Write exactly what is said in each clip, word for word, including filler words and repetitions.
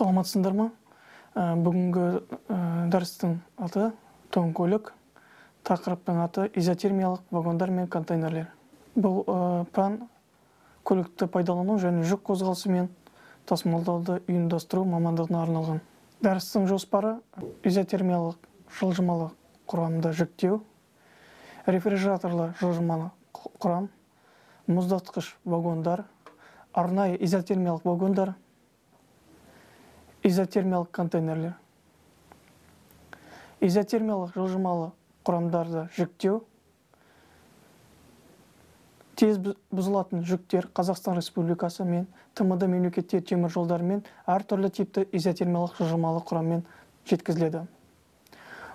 Саламатсыңдар ма? Бүгінгі дәрістің аты тоң көлік, тақырыптың аты изотермиялық вагондар мен контейнерлер. Бұл пән көлікті пайдалану және жүк қозғалысы мен тасымалдауды ұйымдастыру мамандығына арналған. Дәрістің жоспары изотермиялық жылжымалы құрамды жүктеу, рефрижераторлы жылжымалы құрам, мұздатқыш вагондар, арнайы изотермиялық вагондар, изотермиялық контейнерлер. Изотермиялық жылжымалы құрамдарды жүктеу. Тез бұзылатын жүктер Қазақстан Республикасы мен ТМД мемлекеттер темір жолдарымен әртүрлі типті изотермиялық жылжымалы құраммен жеткізіледі.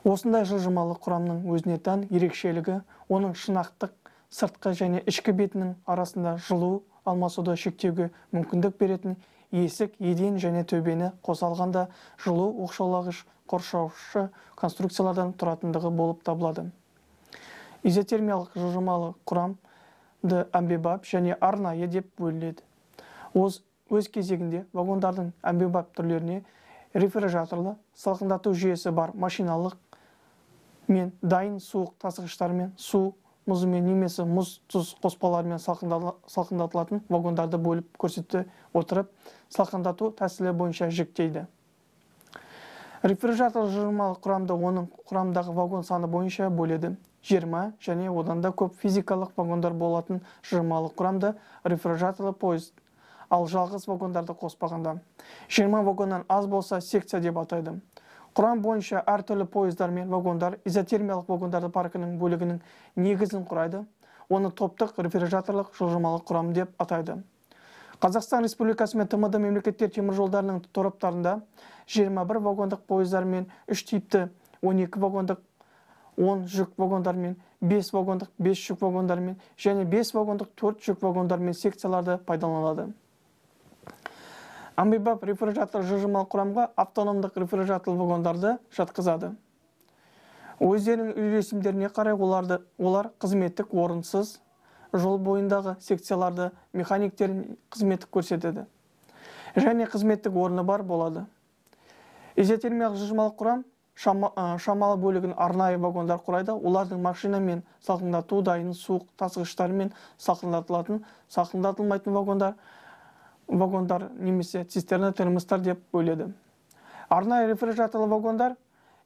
Осындай жылжымалы құрамның өзіне тән ерекшелігі оның шынақтық сыртқы және ішкі бетінің арасында жылу алмасуды шектеуге мүмкіндік беретін есік, еден және төбені қоса алғанда жылу оқшаулағыш қоршаушы конструкциялардан тұратындығы болып табылады. Изотермиялық жылжымалы құрамды әмбебап және арнайы деп бөлінеді. Өз кезегінде вагондардың әмбебап түрлеріне рефрижераторлы, салқындату жүйесі бар машиналық мен дайын суық тасығыштармен, су мұзымен немесе мұз тұз қоспаларымен салқындатылатын вагондарды бөліп көрсете отырып, салқындату тәсілі бойынша жіктейді. Рефрижератор жылжымалы құрамды оның құрамдағы вагон саны бойынша бөледі. жиырма және одан да көп физикалық вагондар болатын жылжымалы құрамды рефрижераторлы поезд, ал жалғыз вагондарды қоспағанда жиырма вагоннан аз болса секция деп атайды. Құрам бойынша әртүрлі поездар мен вагондар изотермиялық вагондарды паркінің бөлігінің негізін құрайды. Оны топтық рефрижераторлық жылжымалы құрам деп атайды. Қазақстан Республикасы мен ТМД мемлекеттер темір жолдарының тораптарында жиырма бір вагондық поездар мен үш типті он екі вагондық он жүк вагондар мен бес вагондық бес жүк вагондар мен және бес вагондық төрт жүк вагондар мен секцияларды пайдаланылады. Әмбебап рефрижератор жылжымалы құрамға автономдық рефрижераторлы вагондарды жатқызады. Өздерінің үйлесімдеріне қарай оларды, олар қызметтік орынсыз жол бойындағы секцияларды механиктер қызметтік көрсетеді және қызметтік орны бар болады. Изотермиялық жылжымалы құрам шамалы бөлігін арнайы вагондар құрайды. Олардың машина мен салқындату дайын суық тасығыштары мен салқындатылатын, салқындатылмайтын вагондар вагондар немесе цистерна термостар деп бөледі. Арнайы рефрижераторлы вагондар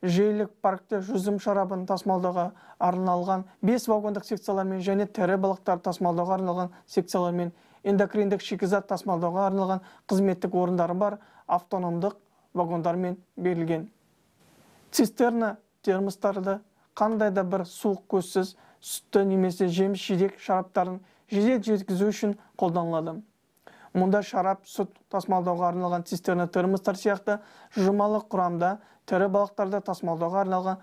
желілік паркте жүзім шарабын тасымалдауға арналған бес вагондық секциялармен және тірі балықтар тасымалдауға арналған секциялармен эндокриндік шикізат тасымалдауға арналған қызметтік орындары бар автономдық вагондармен берілген. Цистерна термостарды қандай да бір суық көзсіз сүтті немесе жеміс жидек шараптарын жедел жеткізу үшін қолданылады. Мұнда шарап, сүт тасымалдауға арналған цистерна термостар сияқты жылжымалы құрамда тірі балықтарды тасымалдауға арналған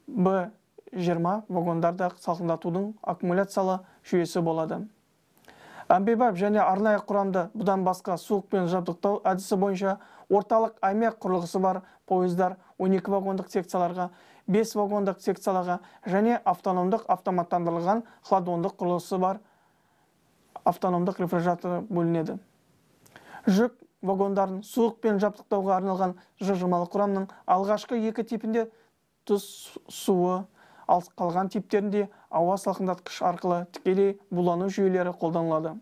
Б жиырма вагондарда салқындатудың аккумуляциялы жүйесі болады. Әмбебап және арнайы құрамды бұдан басқа суықпен жабдықтау әдісі бойынша орталық аймақ құрылғысы бар поездар он екі вагондық секцияларға, бес вагондық секцияларға және автономдық автоматтандырылған хладондық құрылғысы бар автономдық рефрижераторы бөлінеді. Жүк вагондарын суықпен жабдықтауға арналған жылжымалы құрамның алғашқы екі типінде тұз суы, ал қалған типтерінде ауа салқындатқыш арқылы тікелей булану жүйелері қолданылады.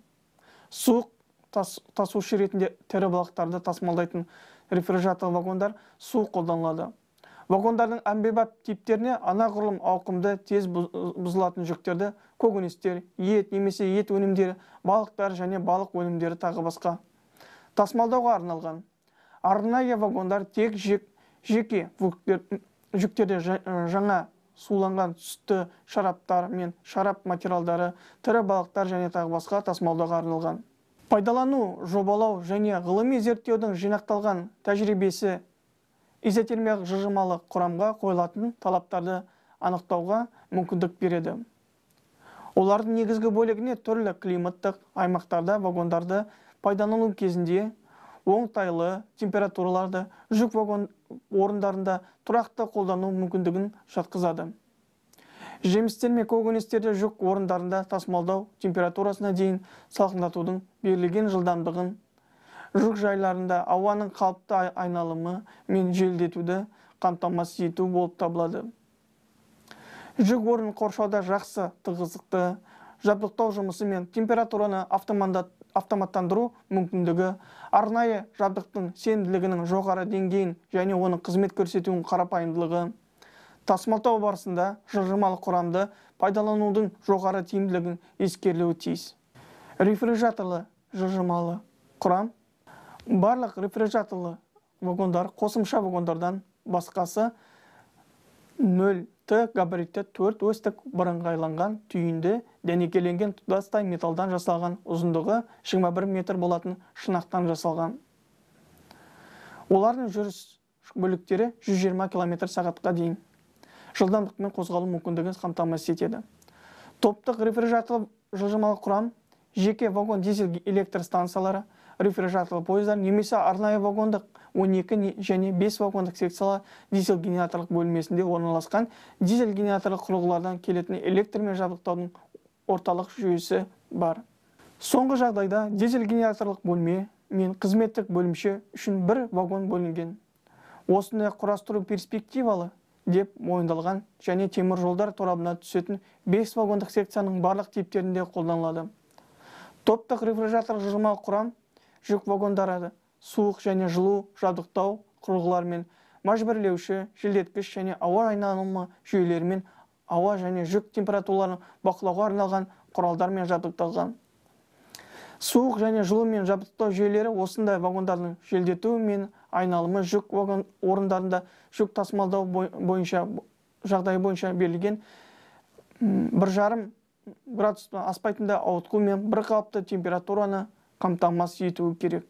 Суық тасушы ретінде тірі балықтарды тасымалдайтын рефрижератор вагондар суық қолданылады. Вагондардың әмбебап типтеріне анағұрлым ауқымды тез бұзылатын жүктерді көкөністер, ет немесе ет өнімдері, балықтар және балық өнімдері тағы басқа тасымалдауға арналған. Арнайы вагондар тек жеке жүктерде жаңа суланған сүтті шараптар мен шарап материалдары, тірі балықтар және тағы басқа тасымалдауға арналған. Пайдалану, жобалау және ғылыми зерттеудің жинақталған тәжірибесі изотермиялық жылжымалы құрамға қойылатын талаптарды анықтауға мүмкіндік береді. Олардың негізгі бөлігіне түрлі климаттық аймақтарда вагондарды пайдалану кезінде оңтайлы температураларды жүк вагон орындарында тұрақты қолдану мүмкіндігін жатқызады. Жемістер мен көкөністерді жүк орындарында тасымалдау температурасына дейін салқындатудың берілген жылдамдығын жүк жайларында ауаның қалыпты айналымы мен желдетуді қамтамасыз ету болып табылады. Жүк орнын қоршауда жақсы тығыздықты жабдықтау жұмысы мен температураны автоматтандыру мүмкіндігі, арнайы жабдықтың сенімділігінің жоғары деңгейін және оның қызмет көрсетуінің қарапайымдылығы, тасымалдау барысында жылжымалы құрамды пайдаланудың жоғары тиімділігін ескерілуі тиіс. Рефрижераторлы жылжымалы құрам. Барлық рефрижераторлы вагондар қосымша вагондардан басқасы нөл Т габаритті төрт осьтік бірыңғайланған түйінді дәнекеленген тұтастай металдан жасалған, ұзындығы жиырма бір метр болатын шынақтан жасалған. Олардың жүріс бөліктері жүз жиырма километр сағатқа дейін жылдамдықпен қозғалу мүмкіндігін қамтамасыз етеді. Топтық рефрижераторлы жылжымалы құрам жеке вагон дизель электр станциялары, рефрижераторлы пойыздар немесе арнайы вагондық он екі және бес вагондық секциялы дизель генераторлық бөлмесінде орналасқан дизель генераторлық құрылғылардан келетін электрмен жабдықтаудың орталық жүйесі бар. Соңғы жағдайда дизель генераторлық бөлме мен қызметтік бөлімше үшін бір вагон бөлінген. Осындай құрастыру перспективалы деп мойындалған және темір жолдар торабына түсетін бес вагондық секцияның барлық типтерінде қолданылады. Топтық рефрижератор жылжымалы құрам жүк вагондары суық және жылу жабдықтау құрылғыларымен, мәжбүрлеуші, желдеткіш және ауа айналымы жүйелерімен, ауа және жүк температураларын бақылауға арналған құралдармен жабдықталған. Суық және жылумен жабдықтау жүйелері осындай вагондардың желдету мен айналымы жүк вагон орындарында жүк тасымалдау бойынша жағдайы бойынша берілген бір жарым градустан аспайтында ауытқу мен бір қалыпты температураны қамтамасыз етуі керек.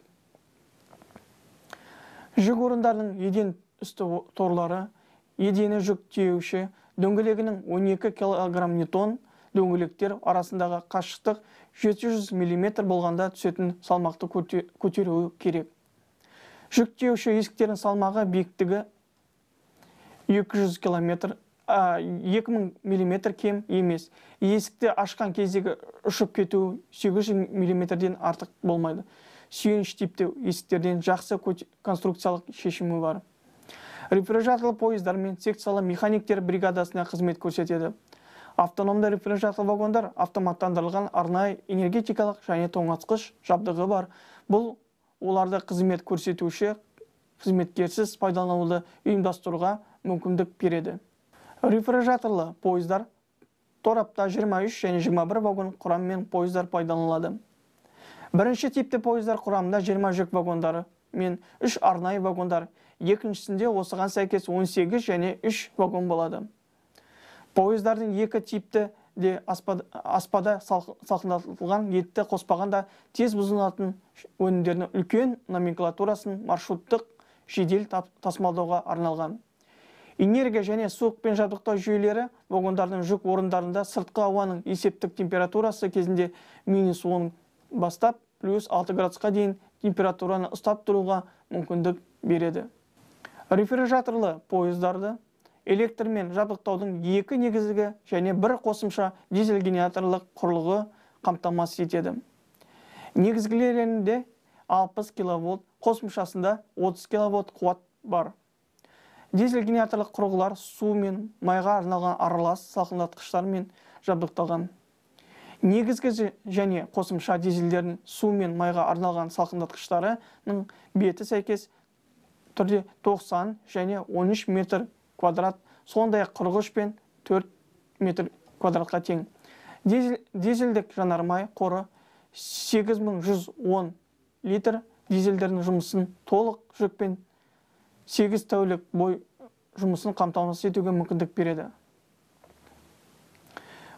Жүк орындарының еден үсті торлары, едені жүк тиеуші, дөңгелегінің он екі килограмм ньютон, дөңгелектер арасындағы қашықтық жеті жүз миллиметр болғанда түсетін салмақты көтеруі керек. Жүк тиеуші есіктердің салмағы биіктігі екі жүз километр, екі мың миллиметр кем емес. Есікті ашқан кездегі ұшып кету сегіз жүз миллиметрден артық болмайды. Сүйеніш типті есіктерден жақсы конструкциялық шешімі бар. Рефрижераторлы пойыздар мен секциялы механиктер бригадасына қызмет көрсетеді. Автономды рефрижераторлы вагондар автоматтандырылған арнайы энергетикалық және тоңазытқыш жабдығы бар. Бұл оларды қызмет көрсетуші қызметкерсіз пайдалануды ұйымдастыруға мүмкіндік береді. Рефрижераторлы пойыздар торапта жиырма үш және жиырма бір вагон құрамымен пойыздар пайдаланылады. Бірінші типті пойыздар құрамында жиырма жүк вагондары мен үш арнайы вагондар, екіншісінде осыған сәйкес он сегіз және үш вагон болады. Пойыздардың екі типті де аспада салқындатылған етті қоспағанда тез бұзылатын өнімдерінің үлкен номенклатурасын маршруттық жедел тасымалдауға арналған. Энергия және суықпен жабдықтау жүйелері вагондардың жүк орындарында сыртқы ауаның есептік температурасы кезінде минус он бастап плюс алты градусқа дейін температураны ұстап тұруға мүмкіндік береді. Рефрижераторлы пойыздарды электрмен жабдықтаудың екі негізгі және бір қосымша дизель генераторлық құрылғы қамтамасыз етеді. Негізгілерінде алпыс киловольт, қосымшасында отыз киловольт қуат бар. Дизель генераторлық құрылғылар су мен майға арналған аралас салқындатқыштармен жабдықталған. Негізгі және қосымша дизельдердің су мен майға арналған салқындатқыштарының беті сәйкес түрде тоқсан және он үш метр квадрат, сондай қырық үш пен төрт метр квадратқа тең. Дизельдік жанармай қоры сегіз мың жүз он литр дизельдердің жұмысын толық жүкпен сегіз тәулік бой жұмысын қамтамасыз етуге мүмкіндік береді.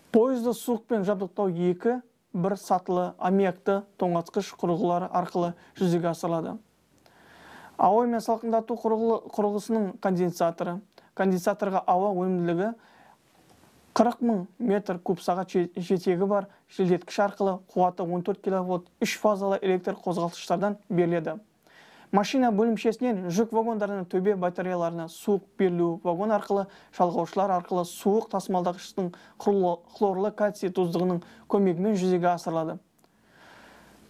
Пойызды суықпен жабдықтау екі бір сатылы аммиакты тоңазытқыш құрылғылары арқылы жүзеге асырылады. Ауа мен салқындату құрылғысының конденсаторы. Конденсаторға ауа өнімділігі қырық мың метр куб сағат жетегі бар желдеткіш арқылы қуаты он төрт киловольт үш фазалы электр қозғалтқыштардан беріледі. Машина бөлімшесінен жүк вагондарының төбе батареяларына суық берілу вагон арқылы жалғаушылар арқылы суық тасымалдағыштың хлорлы кальций тұздығының көмегімен жүзеге асырылады.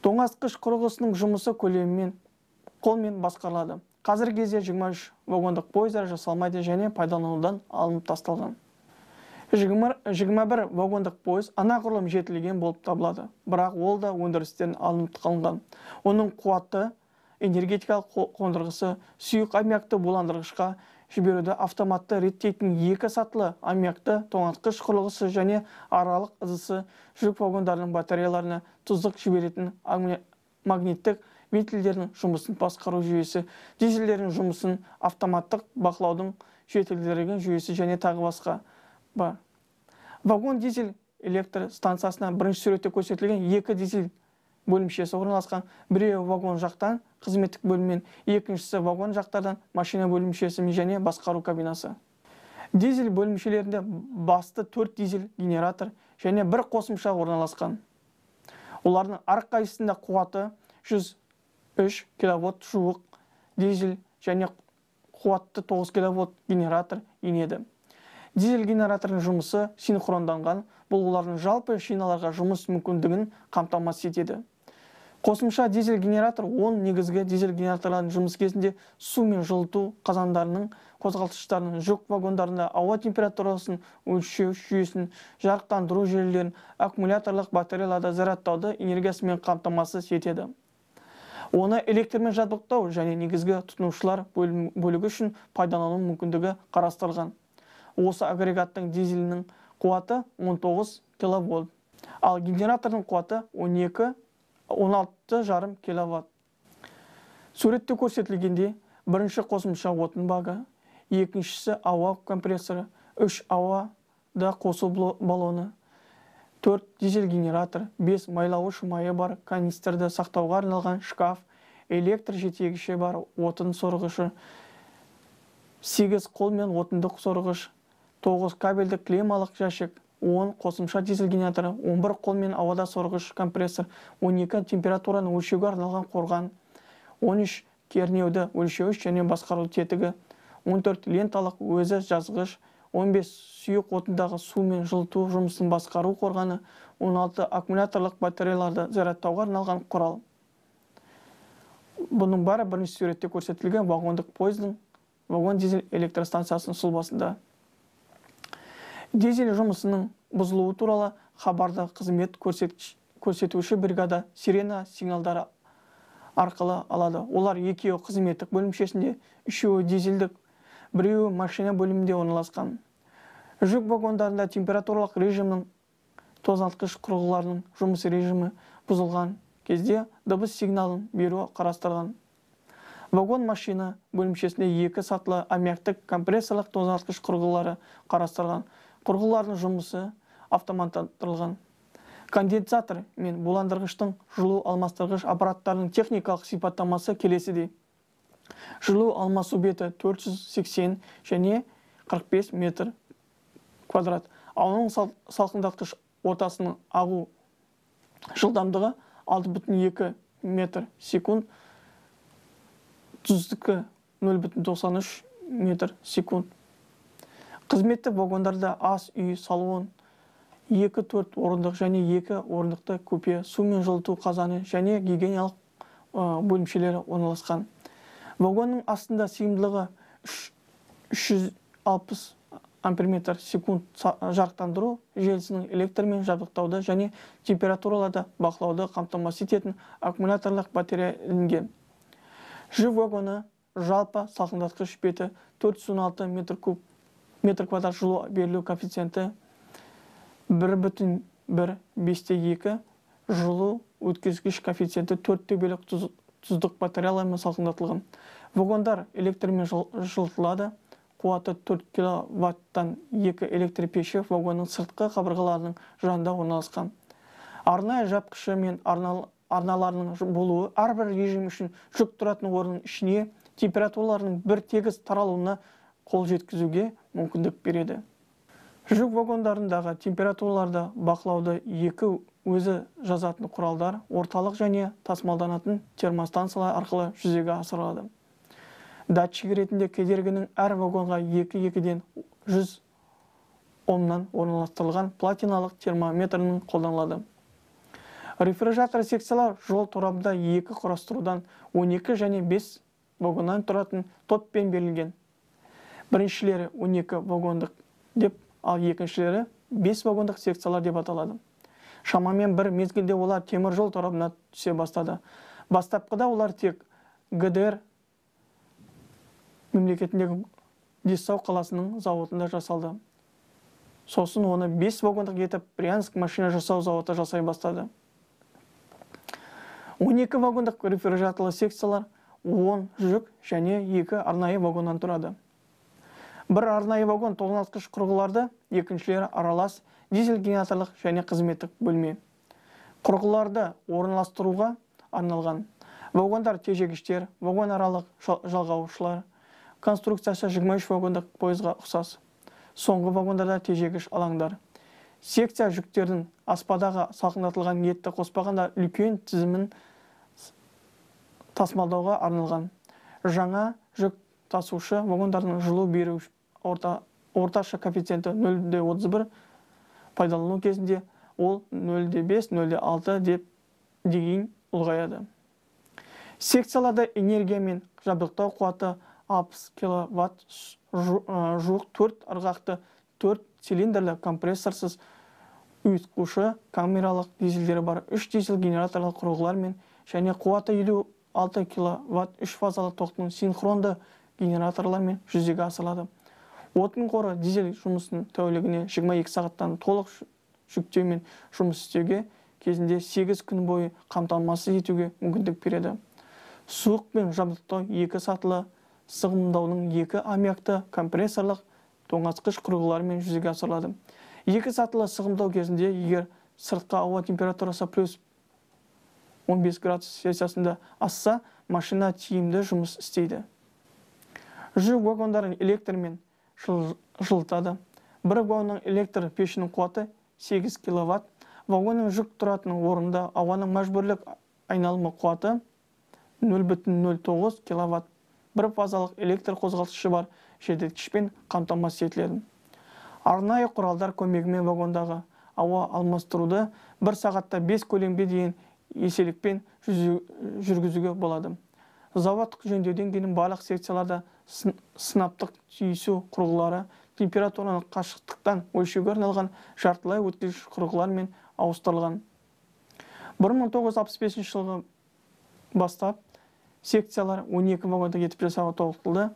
Тоңазытқыш құрылғысының жұмысы көлемімен қолмен басқарылады. Қазіргі кезде жиырма үш вагондық пойыздар жасалмайды және пайдаланудан алынып тасталған. жиырма бір вагондық пойыз анағұрлым жетілген болып табылады, бірақ ол да өндірістен алынып қалынған. Оның қуатты энергетикалық қондырғысы сұйық аммиакты буландырғышқа жіберуді автоматты реттейтін екі сатылы аммиакты тоңазытқыш құрылғысы және аралық ызысы жүк вагондарының батареяларына тұздық жіберетін магниттік вентильдердің жұмысын басқару жүйесі, дизельдердің жұмысын автоматтық бақылаудың жетілдірілген жүйесі және тағы басқа бар. Вагон дизель электр станциясына бірінші суретте көрсетілген екі дизель бөлімшесі орналасқан. Біреуі вагон жақтан қызметтік бөліммен, екіншісі вагон жақтардан машина бөлімшесі және басқару кабинасы. Дизель бөлімшелерінде басты төрт дизель генератор және бір қосымша орналасқан. Олардың әрқайсысында қуаты жүз үш киловатт жуық дизель және қуатты тоғыз киловатт генератор енеді. Дизель генераторының жұмысы синхронданған, бұл олардың жалпы шиналарға жұмыс мүмкіндігін қамтамасыз етеді. Қосымша дизель генератор он негізгі дизель генераторлардың жұмыс кезінде су мен жылыту қазандарының қозғалтқыштарының жүк вагондарында ауа температурасын өлшеу жүйесін, жарықтандыру желілерін, аккумуляторлық батареяларда зарядтауды энергиясымен қамтамасыз етеді. Оны электрмен жабдықтау және негізгі тұтынушылар бөлігі үшін пайдалану мүмкіндігі қарастырылған. Осы агрегаттың дизелінің қуаты он тоғыз киловатт, ал генератордың қуаты он екі он алты жарым киловатт. Суретте көрсетілгенде бірінші қосымша отын бағы, екіншісі ауа компрессоры, үш ауада қосу баллоны, төрт дизель генератор, бес майлауыш майы бар канистрді сақтауға арналған шкаф, электр жетегіші бар отын сорғышы, сегіз қолмен отындық сорғыш, тоғыз кабельді клемалық жәшік, он қосымша дизель генераторы, он бір қолмен ауада сорғыш компрессор, он екі температураны өлшеуге арналған қорған, он үш кернеуді өлшеуіш және басқару тетігі, он төрт ленталық өзі жазғыш, он бес сұйық отындағы су мен жылыту жұмысын басқару қорғаны, он алты аккумуляторлық батареяларды зарядтауға арналған құрал. Бұның бәрі бірінші суретте көрсетілген вагондық пойыздың вагон дизель электростанциясының сұлбасында. Дизель жұмысының бұзылуы туралы хабарды қызмет көрсетуші бригада сирена сигналдары арқылы алады. Олар екеуі қызметтік бөлімшесінде, үшеуі дизельдік, біреуі машина бөлімінде орналасқан. Жүк вагондарында температуралық режимнің тозалтқыш құрылғыларының жұмыс режимі бұзылған кезде дыбыс сигналын беру қарастырылған. Вагон машина бөлімшесінде екі сатылы аммиактік компрессорлық тозалтқыш құрылғылары қарастырылған. Құрылғылардың жұмысы автоматтандырылған. Конденсатор мен буландырғыштың жылу алмастырғыш аппараттарының техникалық сипаттамасы келесідей. Жылу алмасу беті төрт жүз сексен және қырық бес метр квадрат. Ауаның салқындатқыш ортасының ағу жылдамдығы алты бүтін екі метр секунд, тұздықты нөл бүтін тоқсан үш метр секунд. Қызметті вагондарда ас үй, салон, екі төрт орындық және екі орындықты купе, су мен жылыту қазаны және гигиеналық бөлімшелері орналасқан. Вагонның астында сыйымдылығы үш жүз алпыс амперметр секунд жарықтандыру желісінің электрмен жабдықтауды және температураларды бақылауды қамтамасыз ететін аккумуляторлық батарея ілінген. Жүк вагоны жалпы салқындатқыш беті төрт жүз он алты метр куб метр квадрат жылу берілу коэффициенті бір бүтін бір бесте екі, жылу өткізгіш коэффициенті төрт бөлік тұздық батареялармен салқындатылған. Вагондар электрмен жылытылады. Қуаты төрт киловаттан екі электр пеші вагонның сыртқы қабырғаларының жанында орналасқан. Арнайы жапқышы мен арналарының болуы әрбір режим үшін жүк тұратын орынның ішіне температураларының бір тегіс таралуына қол жеткізуге мүмкіндік береді. Жүк вагондарындағы температураларды бақылауды екі өзі жазатын құралдар орталық және тасымалданатын термостансалар арқылы жүзеге асырылады. Датчик ретінде кедергінің әр вагонға екі-екіден жүз омнан орналастырылған платиналық термометрінің қолданылады. Рефрижератор секциялар жол торабында екі құрастырудан он екі және бес вагоннан тұратын топпен берілген. Біріншілері он екі вагондық деп, ал екіншілері бес вагондық секциялар деп аталады. Шамамен бір мезгілде олар темір жол торабына түсе бастады. Бастапқыда олар тек ГДР мемлекетіндегі Десау қаласының зауытында жасалды. Сосын оны бес вагондық етіп Брянск машина жасау зауыты жасай бастады. он екі вагондық рефрижераторлы секциялар он жүк және екі арнайы вагоннан тұрады. Бір арнайы вагон тоғызғыш құрғыларды, екіншілері аралас дизель генераторлық және қызметтік бөлме. Құрғыларды орналастыруға арналған вагондар тежегіштер, вагон аралық жалғаушылар, конструкциясы жиырма үш вагондық пойызға ұқсас. Соңғы вагондарда тежегіш алаңдар. Секция жүктердің аспадаға салқындатылған етті қоспағанда үлкен тізімін тасымалдауға арналған. Жаңа жүк тасушы вагондардың жылу беру орта, орташа коэффициенті нөл де отыз бір, пайдалану кезінде ол нөл де бес - нөл де алты деп дейін ұлғаяды. Секцияларда энергия мен жабдықтау қуаты алпыс киловатт, жуық төрт ырғақты төрт цилиндрлі компрессорсыз ұйытқушы камералық дизельдері бар үш дизель генераторлық құрылғылар мен және қуаты елу алты киловатт үш фазалы тоқтың синхронды генераторлармен жүзеге асырылады. Отын қоры дизель жұмысын тәулігіне жиырма екі сағаттан толық жүктеумен жұмыс істеуге кезінде сегіз күн бойы қамтамасыз етуге мүмкіндік береді. Суық пен жабдықтау екі сатылы сығымдаудың екі аммиакты компрессорлық тоңазытқыш құрылғыларымен жүзеге асырылады. Екі сатылы сығымдау кезінде егер сыртқы ауа температурасы плюс он бес градус Цельсиясында асса, машина тиімді жұмыс істейді. Жүк вагондарын электрмен жылытады. Бір вагонның электр пешінің қуаты сегіз киловатт. Вагонның жүк тұратын орында ауаның мәжбүрлік айналымы қуаты нөл бүтін нөл тоғыз киловатт. Бір фазалық электр қозғалтқышы бар желдеткішпен қамтамасыз етіледі. Арнайы құралдар көмегімен вагондағы ауа алмастыруды бір сағатта бес көлемге дейін еселікпен жүргізуге болады. Заводтық жөндеуден кейін барлық секцияларда сынаптық түйісу құрылғылары температураны қашықтықтан өлшеуге арналған жартылай өткізгіш құрылғылармен ауыстырылған. бір мың тоғыз жүз алпыс бесінші жылғы бастап секциялар он екі вагондық етіп жасауға толықтырылды.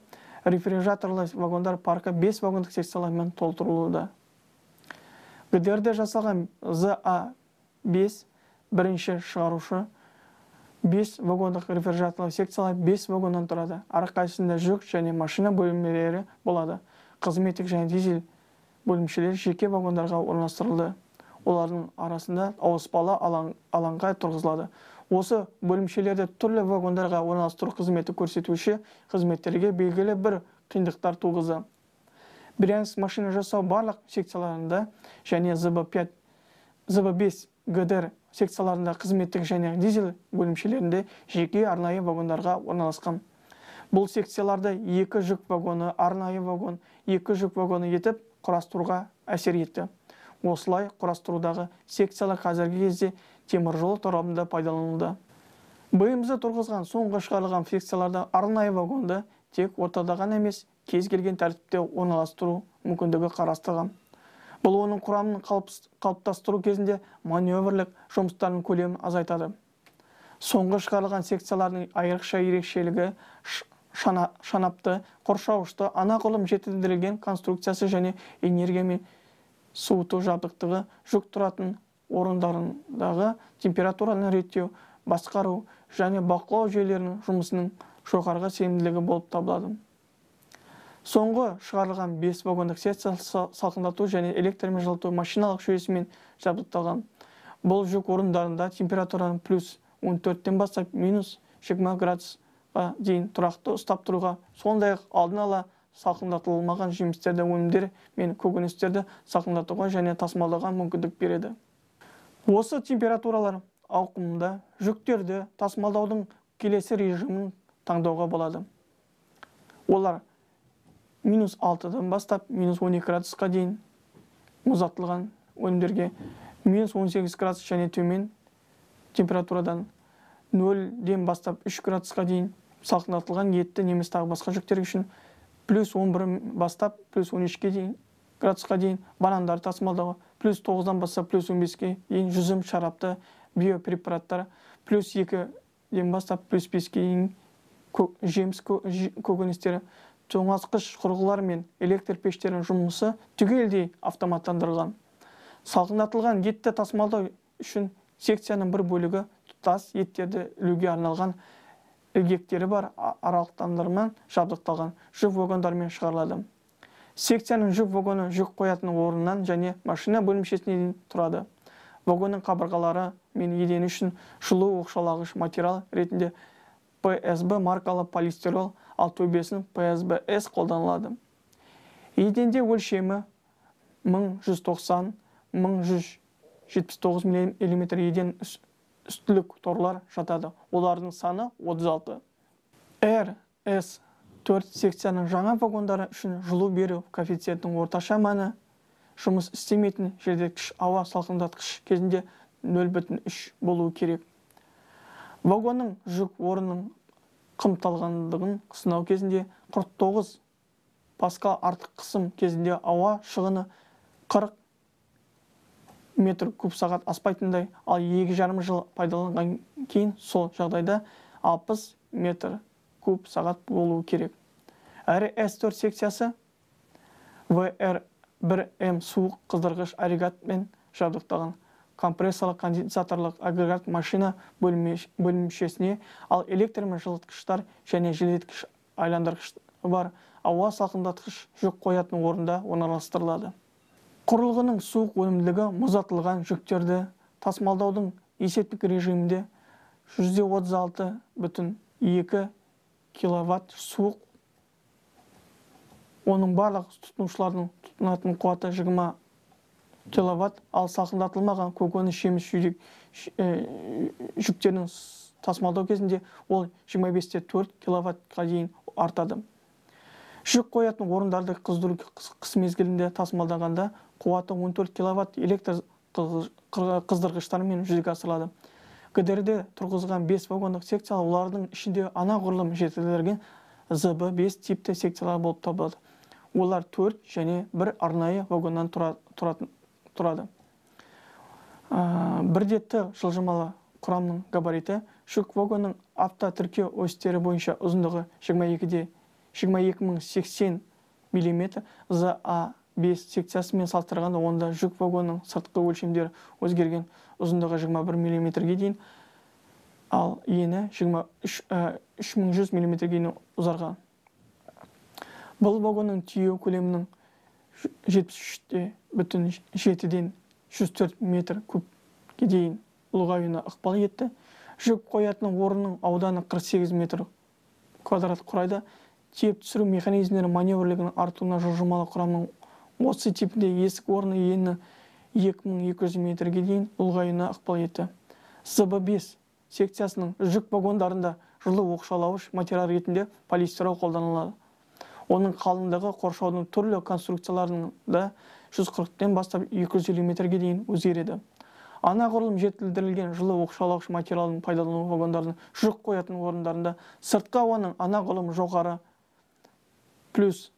Рефрижераторлы вагондар паркі бес вагондық секциялармен толтырылуда. ГДРде жасалған З А бес бірінші шығарушы бес вагондық рефрижераторлы секциялар бес вагоннан тұрады. Әрқайсысында жүк және машина бөлімшелері болады. Қызметтік және дизель бөлімшелері жеке вагондарға орналастырылды. Олардың арасында ауыспалы алаң, алаңға тұрғызылады. Осы бөлімшелерде түрлі вагондарға орналастыру қызметі көрсетуші қызметтерге белгілі бір қиындықтар туғызды. Брянск машина жасау барлық секцияларында және З Б пять, З Б бес ГДР секцияларында қызметтік және дизель бөлімшелерінде жеке арнайы вагондарға орналасқан. Бұл секцияларды екі жүк вагоны, арнайы вагон, екі жүк вагоны етіп құрастыруға әсер етті. Осылай құрастырудағы секциялар қазіргі кезде темір жол торабында пайдаланылды. Б М З тұрғызған соңғы шығарылған секцияларда арнайы вагонды тек ортада ғана емес, кез келген тәртіпте орналастыру мүмкіндігі қарастырған. Бұл оның құрамын қалыптастыру кезінде маневрлік жұмыстардың көлемін азайтады. Соңғы шығарылған секциялардың айрықша ерекшелігі шанапты, қоршауышты, анағұрлым жетілдірілген конструкциясы және энергия мен суыту жабдықтығы, жүк тұратын орындарындағы температураны реттеу, басқару және бақылау жүйелерінің жұмысының жоғарғы сенімділігі болып табылады. Соңғы шығарылған бес вагондық секция салқындату және электрмен жылыту машиналық жүйесімен жабдықталған. Бұл жүк орындарында температураны плюс он төрттен бастап минус жиырма градусқа дейін тұрақты ұстап тұруға, сондай-ақ алдын ала салқындатылмаған жемістерді, өнімдер мен көкөністерді салқындатуға және тасымалдауға мүмкіндік береді. Осы температуралар ауқымында жүктерді тасымалдаудың келесі режимін таңдауға болады. Олар минус алтыдан бастап минус он екі градусқа дейін мұздатылған өнімдерге, минус он сегіз градус және төмен температурадан нөлден бастап үш градусқа дейін салқындатылған етті немесе тағы басқа жүктер үшін, плюс он бір бастап плюс он үшке дейін градусқа дейін банандарды тасымалдауға, плюс тоғыздан бастап плюс он беске дейін жүзім, шарапты, биопрепараттар, плюс екіден бастап плюс беске дейін жеміс көкөністері, тоңазытқыш құрылғылар мен электр пештерінің жұмысы түгелдей автоматтандырылған. Салқындатылған етті тасымалдау үшін секцияның бір бөлігі тұтас еттерді ілуге арналған ілгектері бар аралықтандырмен жабдықталған жүк вагондармен шығарылады. Секцияның жүк вагоны жүк қоятын орыннан және машина бөлімшесінен тұрады. Вагонның қабырғалары мен едені үшін жылу оқшаулағыш материал ретінде пэ эс бэ маркалы полистирол, ал төбесін пэ эс бэ эс қолданылады. Еденде өлшемі мың жүз тоқсан — мың жүз жетпіс тоғыз миллиметр еден үстілік торлар жатады. Олардың саны отыз алты. эр эс төрт секцияның жаңа вагондары үшін жылу беру коэффициентінің орташа мәні жұмыс істемейтін желдеткіш ауа салқындатқыш кезінде нөл бүтін үш болуы керек. Вагонның жүк орнының қымталғандығын сынау кезінде қырық тоғыз паскал артық қысым кезінде ауа шығыны қырық метр куб сағат аспайтындай, ал екі жарым жыл пайдаланған кейін сол жағдайда алпыс метр куб сағат болуы керек. Әрі эс төрт секциясы вэ эр бір эм суық қыздырғыш агрегатпен жабдықталған компрессорлық конденсаторлық агрегат машина бөлімшесіне, ал электр мен жылытқыштар және желдеткіш айландырғыш бар ауа салқындатқыш жүк қоятын орында орналастырылады. Құрылғының суық өнімділігі мұздатылған жүктерді тасымалдаудың есептік режимінде жүз отыз алты бүтін екі киловатт суық, оның барлық тұтынушылардың тұтынатын қуаты жиырма киловатт, ал салқындатылмаған көкөніс жеміс жүктерінің тасымалдау кезінде ол жиырма бес те төрт киловаттқа дейін артады. Жүк қоятын орындарды қыздыру қыс мезгілінде тасымалдағанда қуаты он төрт киловатт электр қыздырғыштармен жүзеге асырылады. гэ дэ эрде тұрғызған бес вагондық секциялар, олардың ішінде анағұрлым жетілдірілген зэ бэ бес типті секциялар болып табылады. Олар төрт және бір арнайы вагоннан тұрады. Бірдетті жылжымалы құрамның габариті жүк вагонның автотіркеу осьтері бойынша ұзындығы жиырма екі мың сексен миллиметр, зэ а бес секциясымен салыстырғанда онда жүк вагонның сыртқы өлшемдері өзгерген, ұзындығы жиырма бір миллиметрге дейін, ал ені үш мың жүз миллиметрге дейін ұзарған. Бұл вагонның түйеу көлемінің жетпіс үш бүтін жетіден жүз төрт метр кубке дейін ұлғаюына ықпал етті. Жүк қоятын орынның ауданы қырық сегіз метр квадрат құрайды. Тиеп түсіру механизмдері маневрлігінің артуына жылжымалы құрамның осы типінде есік орны ені екі мың екі жүз метрге дейін ұлғаюына ықпал етті. зэ бэ бес секциясының жүк вагондарында жылу оқшаулауыш материал ретінде полистирол қолданылады. Оның қалыңдығы қоршаудың түрлі конструкцияларында жүз қырықтан бастап екі жүз елу метрге дейін өзгереді. Анағұрлым жетілдірілген жылу оқшаулауыш материалын пайдалану вагондардың жүк қоятын орындарында сыртқы ауаның анағұрлым жоғары плюс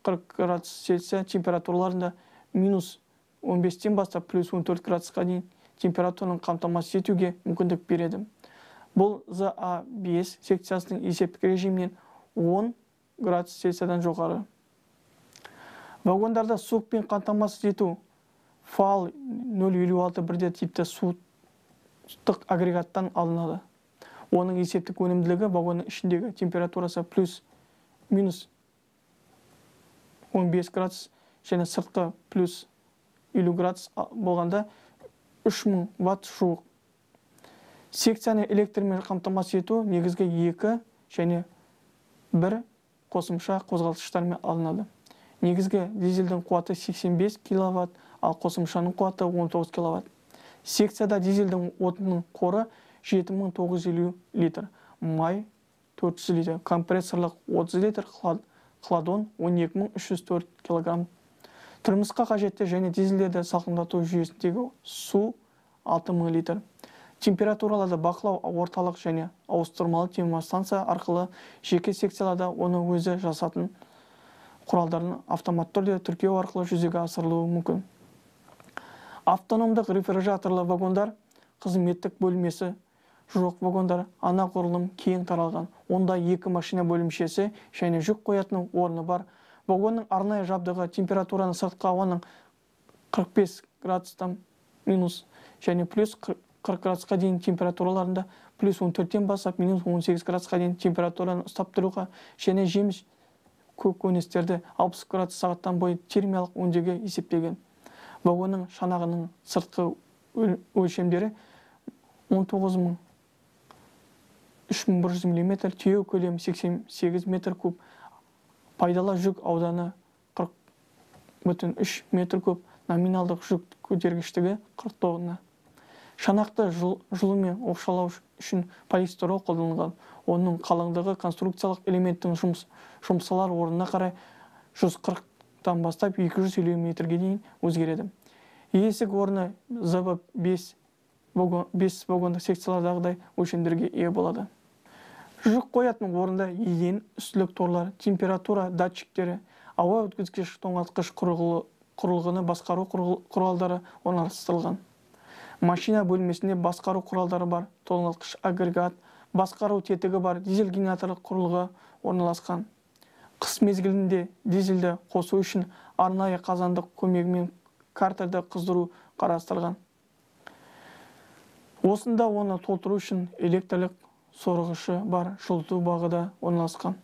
қырық градус Цельсия температураларында минус он бестен бастап плюс он төрт градусқа дейін температураның қамтамасыз етуге мүмкіндік береді. Бұл зэ а бес секциясының есептік режимінен он градус Цельсиядан жоғары. Вагондарда суықпен қамтамасыз ету фал нөл елу алты бірде типті суықтық агрегаттан алынады. Оның есептік өнімділігі вагонның ішіндегі температурасы плюс минус он бес градус және сыртқы плюс елу градус болғанда үш мың ватт жуық. Секцияны электрмен қамтамасыз ету негізгі екі және бір қосымша қозғалтқыштармен алынады. Негізгі дизельдің қуаты сексен бес киловатт, ал қосымшаның қуаты он тоғыз киловатт. Секцияда дизельдің отынның қоры жеті мың тоғыз жүз елу литр, май төрт жүз литр, компрессорлық отыз литр, хладон он екі мың үш жүз төрт килограмм. Тұрмысқа қажетті және дизельдерді салқындату жүйесіндегі су алты мың литр. Температураларды бақылау орталық және ауыстырмалы термостанция арқылы жеке секцияларда оны өзі жасатын құралдарын автоматты түрде тіркеу арқылы жүзеге асырылуы мүмкін. Автономдық рефрижераторлы вагондар қызметтік бөлмесі жоқ вагондар анағұрлым кең таралған. Онда екі машина бөлімшесі және жүк қоятын орны бар. Вагонның арнайы жабдығы температураны сыртқы ауаның қырық бес градустан минус және плюс қырық градусқа дейін температураларында плюс он төрттен бастап минус он сегіз градусқа дейін температураны ұстап тұруға және жеміс көкөністерді алпыс градус сағаттан бойы термиялық өңдеуге есептеген. Вагонның шанағының сыртқы өлшемдері он тоғыз мың үш мың бір жүз миллиметр, түйе көлемі сексен сегіз метр куб, пайдалы жүк ауданы қырық бүтін үш метр куб, номиналдық жүк көтергіштігі қырық тонна. Шанақты жылумен оқшаулау үшін полистирол қолданылған. Оның қалыңдығы конструкциялық элементтің жұмсалар орнына қарай жүз қырықтан бастап екі жүз елу метрге дейін өзгереді. Есік орны зэ бэ бес вагондық секциялардағыдай өлшемдерге ие болады. Жүк қоятын орында еден, үстілік торлар, температура датчиктері, ауа өткізгіш тоңазытқыш құрылғыны басқару құралдары орналастырылған. Машина бөлмесінде басқару құралдары бар, тоңазытқыш агрегат, басқару тетігі бар, дизель генераторлық құрылғы орналасқан. Қыс мезгілінде дизельді қосу үшін арнайы қазандық көмегімен картерді қыздыру қарастырылған. Осында оны толтыру үшін электрлік сорғышы бар жылыту бағыда орналасқан.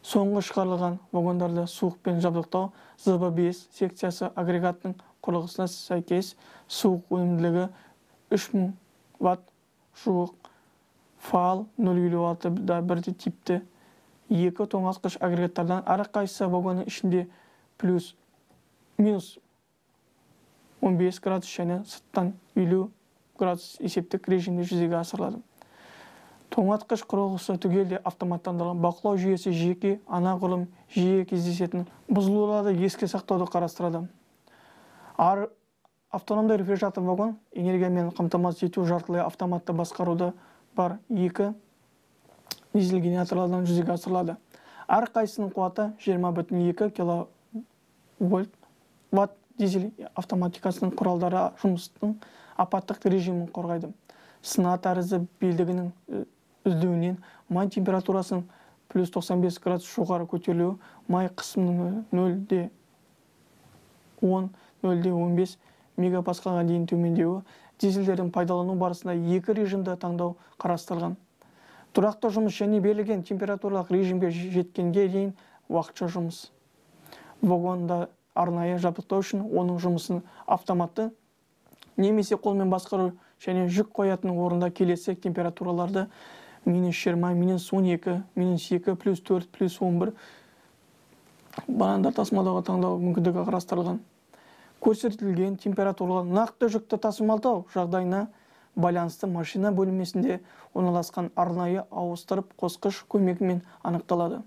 Соңғы шығарылған вагондарды суықпен жабдықтау зэ бэ бес секциясы агрегаттың құрылғысына сәйкес суық өнімділігі үш мың ватт жуық фаал нөл елу алты да бірдей типті екі тоңазытқыш агрегаттардан әрқайсысы вагонның ішінде плюс минус он бес градус және сырттан елу градус есептік режимде жүзеге асырылады. Тоңазытқыш құрылғысы түгелде автоматтандырылған. Бақылау жүйесі жеке анағұрлым жиі кездесетін бұзылуларды еске сақтауды қарастырады. Ар автономды рефрижератор вагон энергиямен қамтамасыз ету жартылай автоматты басқаруды бар екі дизель генераторлардан жүзеге асырылады. Әрқайсының қуаты жиырма бүтін екі киловольт ватт. Дизель автоматикасының құралдары жұмыстың апаттық режимін қорғайды. Сына тәрізді белдігінің үздеуінен май температурасының плюс тоқсан бес градус жоғары көтерілуі, май қысымының нөлде он — нөлде он бес мегапаскалға дейін төмендеуі, дизельдердің пайдалану барысында екі режимді таңдау қарастырылған. Тұрақты жұмыс және берілген температуралық режимге жеткенге дейін уақытша жұмыс. Вагонда арнайы жабдықтау үшін оның жұмысын автоматты немесе қолмен басқару және жүк қоятын орында келесі температураларды минус жиырма, минус он екі, минус екі, плюс төрт, плюс он бір банандар тасымалдауға таңдау мүмкіндігі қарастырылған. Көрсетілген температуралар нақты жүкті тасымалдау жағдайына байланысты машина бөлмесінде орналасқан арнайы ауыстырып қосқыш көмегімен анықталады.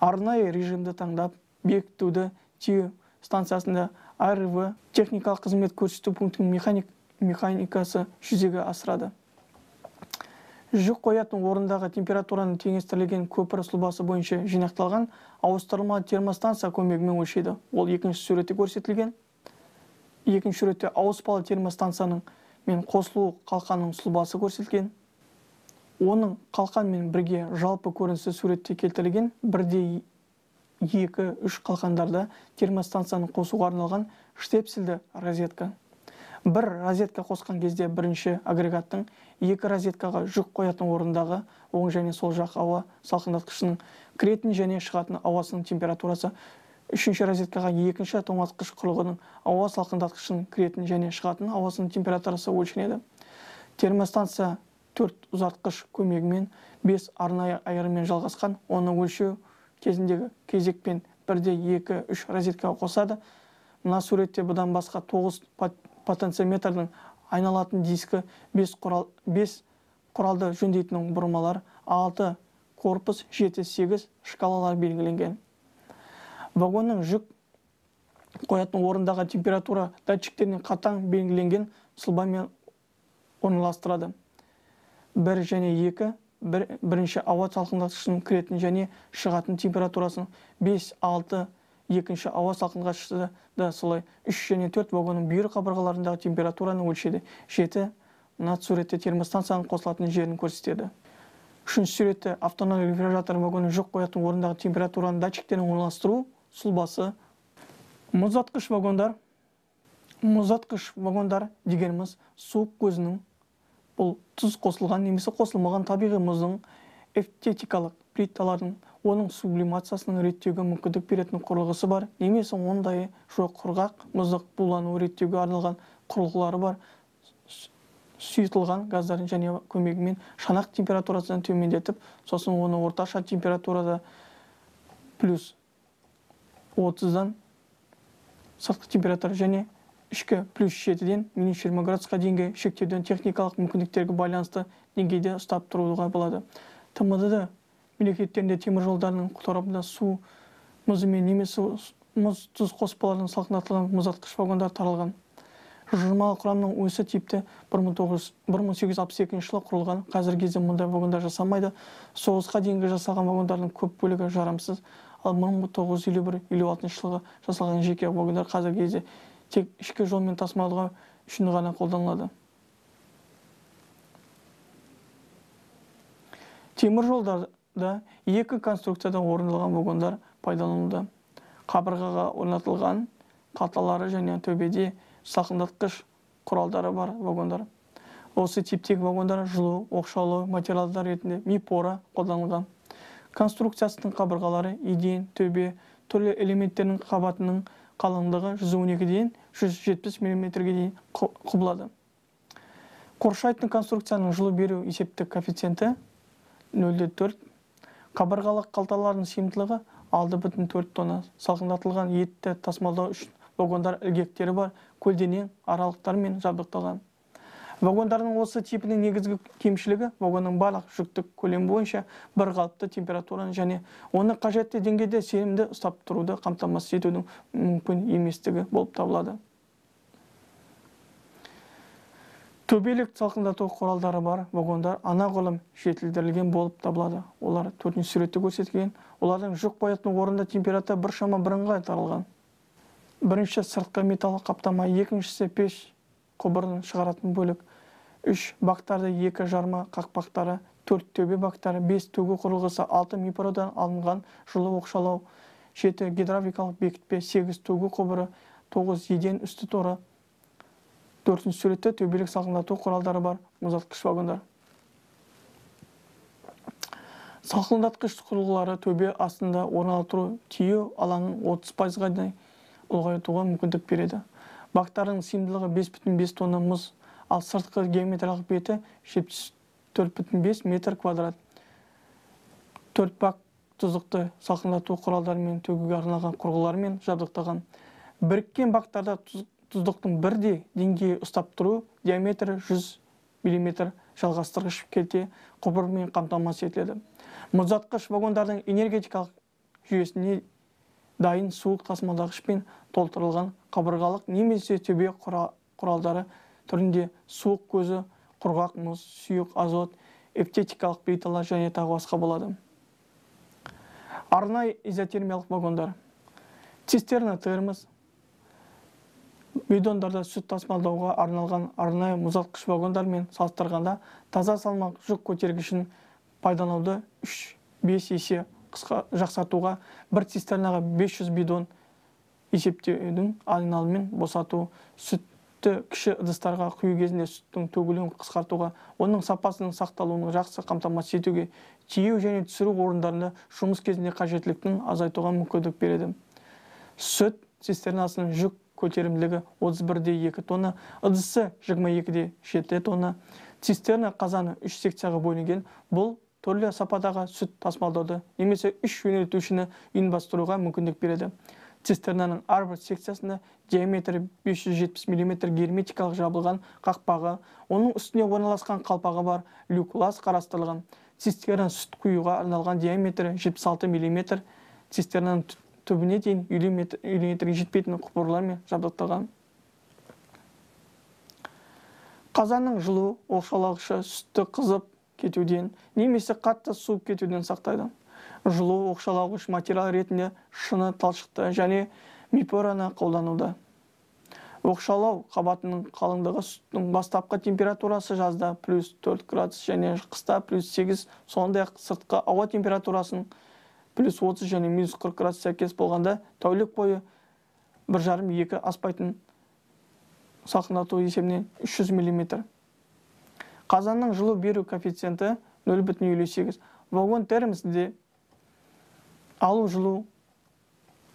Арнайы режимді таңдап бекітуді тиеу станциясында а эр вэ техникалық қызмет көрсету пунктінің механик, механикасы жүзеге асырады. Жүк қоятын орындағы температураны теңестірілген көпір сұлбасы бойынша жинақталған ауыстырылма термостанция көмегімен өлшейді. Ол екінші суретте көрсетілген. Екінші суретте ауыспалы термостанцияның мен қосылу қалқанның сұлбасы көрсетілген. Оның қалқанмен бірге жалпы көрінісі суретте келтірілген. Бірде екі үш қалқандарда термостанцияны қосуға арналған штепсельді розетка. Бір розетка қосқан кезде бірінші агрегаттың екі розеткаға жүк қоятын орындағы оң және сол жақ ауа салқындатқышының кіретін және шығатын ауасының температурасы, үшінші розеткаға екінші тоңазытқыш құрылғының ауа салқындатқышының кіретін және шығатын ауасының температурасы өлшенеді. Термостанция төрт ұзартқыш көмегімен бес арнайы айырымен жалғасқан, оны өлшеу кезіндегі кезекпен бірде екі үш розеткаға қосады. Мына суретте бұдан басқа тоғыз потенциометрдің айналатын дискі, бес құрал, бес құралды жөндейтін бұрмалар, алты корпус, жеті сегіз шкалалар белгіленген. Вагонның жүк қоятын орындағы температура датчиктерінен қатаң белгіленген сұлбамен орналастырады. бір және екі бір, бірінші ауа салқындатқышының кіретін және шығатын температурасын бес алты, екінші ауа салқындатқышы да солай үш және төрт вагонның бүйір қабырғаларындағы температураны өлшеді. жеті мына суретте термостанцияның қосылатын жерін көрсетеді. Үшінші суретте автономды рефрижератор вагонның жүк қоятын орындағы температураның датчиктерін орналастыру сұлбасы. Мұздатқыш вагондар. Мұздатқыш вагондар дегеніміз суық көзінің, бұл тұз қосылған немесе қосылмаған табиғи мұздың эвтетикалық плиталардың оның сублимациясының реттеуге мүмкіндік беретін құрылғысы бар, немесе ондай жоқ құрғақ мұздық булану реттеуге арналған құрылғылары бар сұйытылған газдардың және көмегімен шанақ температурасынан төмендетіп, сосын оны орташа температурада плюс отыздан сыртқы температура және ішкі плюс жетіден минус жиырма градусқа дейінгі шектеуден техникалық мүмкіндіктерге байланысты деңгейде ұстап тұруға болады. ТМД мемлекеттерінде темір жолдарының торабында су мұзымен немесе мұз тұз қоспаларының салқындатылған мұздатқыш вагондар таралған. Жылжымалы құрамның осы типті бір мың сегіз жүз алпыс екінші жылы құрылған. Қазіргі кезде мұндай вагондар жасалмайды. Соғысқа дейінгі жасалған вагондардың көп бөлігі жарамсыз. Ал бір мың тоғыз жүз елу бір елу алтыншы жылғы жасалған жеке вагондар қазіргі кезде тек ішкі жолмен тасымалдауға үшін ғана қолданылады. Темір жолдарда екі конструкциядан орындалған вагондар пайдаланылды. Қабырғаға орнатылған қалталары және төбеде салқындатқыш құралдары бар вагондар. Осы типтегі вагондар жылу, оқшаулау материалдар ретінде мипора қолданылған. Конструкциясының қабырғалары еден, төбе, түрлі элементтерінің қабатының қалыңдығы жүз он екіден жүз жетпіс миллиметрге дейін құбылады. Қоршайтын конструкцияның жылу беру есептік коэффициенті нөл бүтін төрт. Қабырғалық қалталардың сыйымдылығы алты бүтін төрт тонна. Салқындатылған етті тасымалдау үшін вагондар ілгектері бар көлденең аралықтармен жабдықталған. Вагондардың осы типінің негізгі кемшілігі вагонның барлық жүктік көлем бойынша бір қалыпты температураны және оны қажетті деңгейде сенімді ұстап тұруды қамтамасыз етудің мүмкін еместігі болып табылады. Төбелік салқындату құралдары бар вагондар анағұрлым жетілдірілген болып табылады. Олар төртінші суретте көрсетілген. Олардың жүк қоятын орында температура біршама бірыңғай таралған. Бірінші сыртқы металл қаптама, екіншісі пеш құбырын шығаратын бөлік, үш бактарды, екі жарма қақпақтары, төрт төбе бактары, бес төгу құрылғысы, алты мипорадан алынған жылу оқшаулау, жеті гидравликалық бекітпе, сегіз төгу құбыры, тоғыз еден үсті торы. Төртінші суретте төбелік салқындату құралдары бар мұздатқыш вагондар. Салқындатқыш құрылғылары төбе астында орналастыру тиеу алаңын отыз пайызға дейін ұлғайтуға мүмкіндік береді. Бактардың сыйымдылығы бес бүтін бес тонна мұз, ал сыртқы геометриялық беті жетпіс төрт бүтін бес метр квадрат. төрт бак тұздықты салқындату құралдарымен төгуге арналған құрылғылармен жабдықталған. Біріккен бактарда тұздықтың бірдей деңгейі ұстап тұру диаметрі жүз миллиметр жалғастырғыш келте құбырмен қамтамасыз етіледі. Мұздатқыш вагондардың энергетикалық жүйесіне дайын суық тасымалдағышпен толтырылған қабырғалық немесе төбе құралдары түрінде суық көзі, құрғақ мұз, сұйық азот, эвтетикалық плиталар және тағы басқа болады. Арнайы изотермиялық вагондар. Цистерна термос бидондарда сүт тасымалдауға арналған арнайы мұздатқыш вагондармен салыстырғанда таза салмақ жүк көтергішін пайдалануды үш бес есе қысқа жақсартуға, бір цистернаға бес жүз бидон есептеудің айналымен босату, сүтті кіші ыдыстарға құю кезінде сүттің төгілуін қысқартуға, оның сапасының сақталуын жақсы қамтамасыз етуге, тиеу және түсіру орындарында жұмыс кезінде қажеттіліктің азайтуға мүмкіндік береді. Сүт цистернасының жүк көтерімділігі отыз бір де екі тонна, ыдысы жиырма екі де жеті тонна. Цистерна қазаны үш секцияға бөлінген. Бұл түрлі сападағы сүт тасымалдауды немесе үш жөнелтушіні ұйымдастыруға мүмкіндік береді. Цистернаның әрбір секциясында диаметрі бес жүз жетпіс миллиметр герметикалық жабылған қақпағы, оның үстіне орналасқан қалпағы бар люклас қарастырылған. Цистерна сүт құюға арналған диаметрі жетпіс алты миллиметр, цистернаның түбіне дейін елу метрге жетпейтін құбырлармен жабдықталған. Қазанның жылу оқшаулағышы сүтті қызып кетуден немесе қатты суып кетуден сақтайды. Жылу оқшаулағыш материал ретінде шыны талшықты және мембрана қолданылды. Оқшаулау қабатының қалыңдығы сүттің бастапқы температурасы жазда плюс төрт градус және қыста плюс сегіз, сондай-ақ сыртқы ауа температурасының плюс отыз және минус қырық градус сәйкес болғанда тәулік бойы бір жарым екі аспайтын салқындату есебінен үш жүз миллиметр. Қазанның жылу беру коэффициенті нөл бүтін елу сегіз. Вагон термосінде алу жылу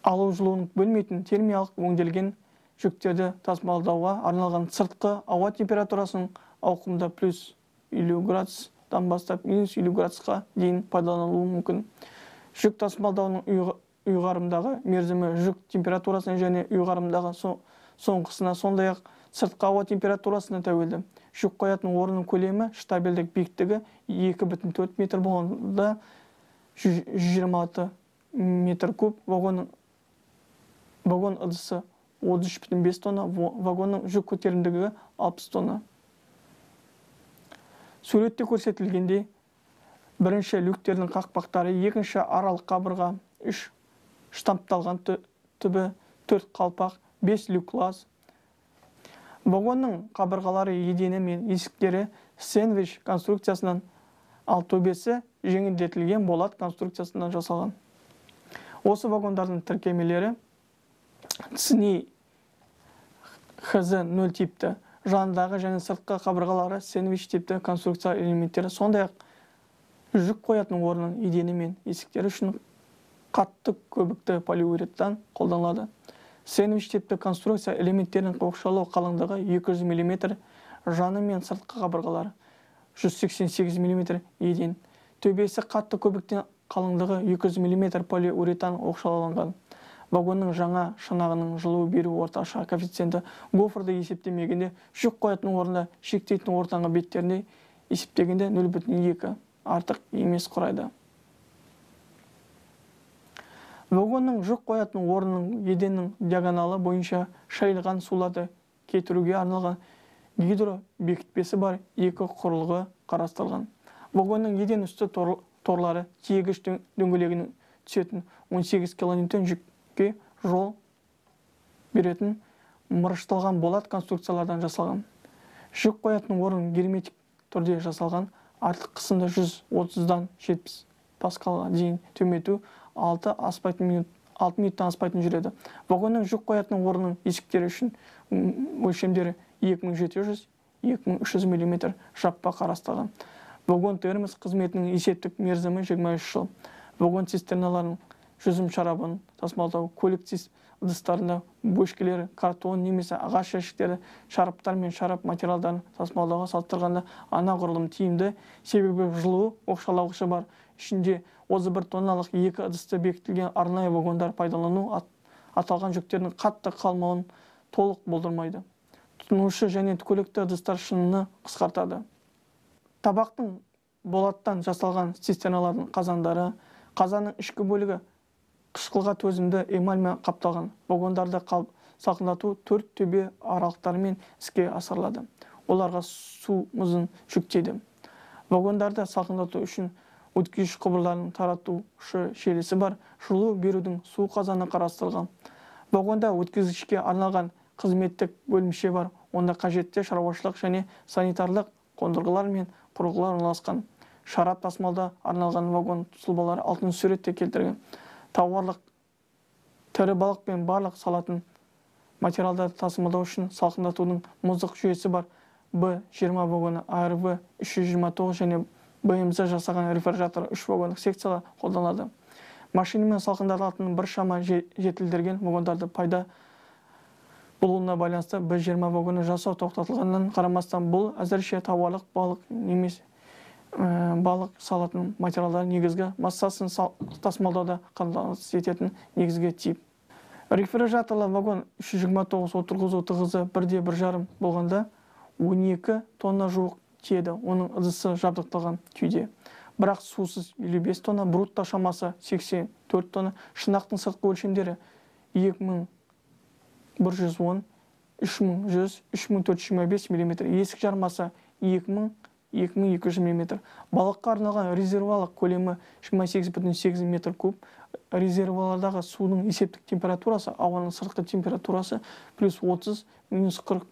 алу жылуын бөлмейтін термиялық өңделген жүктерді тасымалдауға арналған сыртқы ауа температурасының ауқымда плюс елу градустан бастап минус елу градусқа дейін пайдаланылуы мүмкін. Жүк тасымалдауының ұйғарымдағы мерзімі жүк температурасына және ұйғарымдағы соңғысына, сондай-ақ сыртқы ауа температурасына тәуелді. Жүк қоятын орынның көлемі штабельдік биіктігі екі бүтін төрт метр болғанда жүз жиырма алты метр куб, вагонның вагон ыдысы отыз үш бүтін бес тонна, вагонның жүк көтерімділігі алпыс тонна. Суретте көрсетілгендей, бірінші люктердің қақпақтары, екінші аралық қабырға, үш штампталған түбі, төрт қалпақ, бес люк лаз. Вагонның қабырғалары, едені мен есіктері сэндвич конструкциясынан, ал төбесі жеңілдетілген болат конструкциясынан жасалған. Осы вагондардың тіркемелері цни хз нөл типті, жанындағы және сыртқы қабырғалары сэндвич типті конструкция элементтері, сондай-ақ жүк қоятын орнының едені мен есіктері үшін қатты көбікті полиуретан қолданылады. Сэндвич типті конструкция элементтерінің оқшаулау қалыңдығы екі жүз миллиметр, жаны мен сыртқы қабырғалары жүз сексен сегіз миллиметр еден. Төбесі қатты көбіктен қалыңдығы екі жүз миллиметр полиуретан оқшауланған. Вагонның жаңа шанағының жылу беру орташа коэффициенті гофрды есептемегенде жүк қоятын орында шектейтін ортаңғы беттерінде есептегенде нөл бүтін екі артық емес құрайды. Вагонның жүк қоятын орнының еденнің диагоналы бойынша шайылған суларды кетіруге арналған гидробекітпесі бар екі құрылғы қарастырылған. Вагонның еден үсті торлары тиегіш дөңгелегінің түсетін он сегіз килонewton жүкке жол беретін мырышталған болат конструкциялардан жасалған. Жүк қоятын орын герметик түрде жасалған, артық қысымды жүз отыздан жетпіс паскалға дейін төмендету алты минуттан аспайтын жүреді. Вагонның жүк қоятын орнының есіктері үшін өлшемдері екі мың жеті жүз — екі мың үш жүз миллиметр жаппа қарастырылған. Вагон термос қызметінің есептік мерзімі жиырма үш жыл. Вагон цистерналарының жүзім шарабын тасымалдау, көлік ыдыстарында бөшкелері, картон немесе ағаш жәшіктері, шараптар мен шарап материалдарын тасымалдауға салыстырғанда анағұрлым тиімді, себебі жылу оқшаулағышы бар. Ішінде отыз бір тонналық екі ыдысты бекітілген арнайы вагондар пайдалану аталған жүктердің қатты қалмауын толық болдырмайды. Тұтынушы және көлікті ыдыстар шыныны қысқартады. Табақтың болаттан жасалған цистерналардың қазандары, қазанның ішкі бөлігі қышқылға төзімді эмальмен қапталған. Вагондарды салқындату төрт төбе аралықтарымен іске асырылады. Оларға су мұзын жүктейді. Вагондарды салқындату үшін өткізгіш құбырларының таратушы желісі бар жылу берудің су қазаны қарастырылған. Вагонда өткізгішке арналған қызметтік бөлімше бар. Онда қажетті шаруашылық және санитарлық қондырғылар мен құрылғылар орналасқан. Шарап тасымалда арналған вагон сұлбалары алтын суретте келтірген. Тауарлық, тірі балық пен барлық салатын материалдарды тасымалдау үшін салқындатудың мұздық жүйесі бар. Б жиырма вагоны А Р В үш жүз жиырма тоғыз және Б М З жасаған рефрижератор үш вагондық секциялар қолданылады. Машинамен салқындатылатын бір шама жетілдірген вагондарды пайда болуына байланысты Б жиырма вагоны жасау тоқтатылғаннан қарамастан, бұл әзірше тауарлық, балық немесе балық салатын материалдар негізгі массасын тасымалдауда қамтамасыз ететін негізгі тип. Рефрижераторлы вагон үш жүз жиырма тоғыз отырғызу тығызы бірде бір жарым болғанда он екі тонна жуық тиеді. Оның ыдысы жабдықталған күйде. Бірақ сусыз елу бес тонна, брутто шамасы сексен төрт тонна. Шынақтың сыртқы өлшемдері екі мың бір жүз он үш мың жүз — үш мың төрт жүз жиырма бес мм, есік жармасы екі мың — екі мың екі жүз мм. Балыққа арналған резервуарлық көлемі жиырма сегіз бүтін сегіз метр куб. Резервуарлардағы судың есептік температурасы, ауаның сыртқы температурасы плюс отыз — минус қырық